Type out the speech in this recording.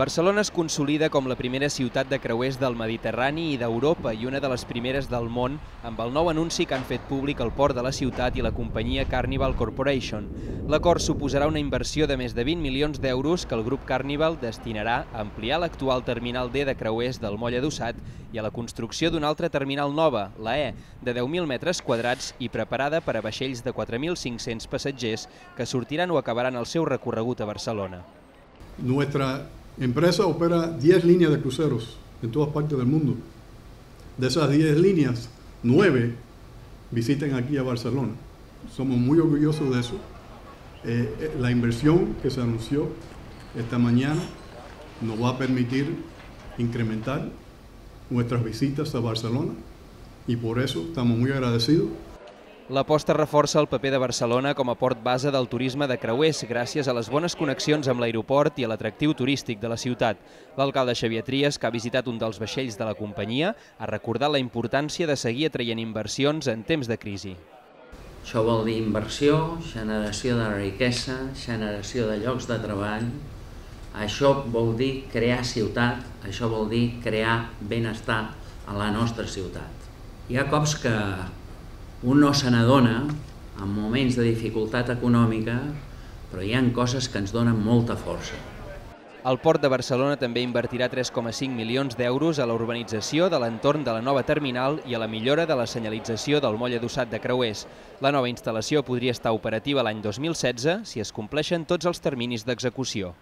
Barcelona es consolida com la primera ciutat de creuers del Mediterrani i d'Europa i una de les primeres del món amb el nou anunci que han fet públic el port de la ciutat i la companyia Carnival Corporation. L'acord suposarà una inversió de més de 20 milions d'euros que el grup Carnival destinarà a ampliar l'actual terminal D de creuers del Moll Adossat i a la construcció d'una altra terminal nova, la E, de 10.000 metres quadrats i preparada per a vaixells de 4.500 passatgers que sortiran o acabaran el seu recorregut a Barcelona. Nuestra empresa opera 10 líneas de cruceros en todas partes del mundo. De esas 10 líneas, 9 visitan aquí a Barcelona. Somos muy orgullosos de eso. La inversión que se anunció esta mañana nos va a permitir incrementar nuestras visitas a Barcelona y por eso estamos muy agradecidos. L'aposta reforça el paper de Barcelona com a port base del turisme de creuers gràcies a les bones connexions amb l'aeroport i a l'atractiu turístic de la ciutat. L'alcalde Xavier Trias, que ha visitat un dels vaixells de la companyia, ha recordat la importància de seguir atraient inversions en temps de crisi. Això vol dir inversió, generació de riquesa, generació de llocs de treball. Això vol dir crear ciutat, això vol dir crear benestar a la nostra ciutat. Hi ha cops que un no se n'adona en moments de dificultat econòmica, però hi ha coses que ens donen molta força. El Port de Barcelona també invertirà 3,5 milions d'euros a la urbanització de l'entorn de la nova terminal i a la millora de la senyalització del Moll Adossat de creuers. La nova instal·lació podria estar operativa l'any 2016 si es compleixen tots els terminis d'execució.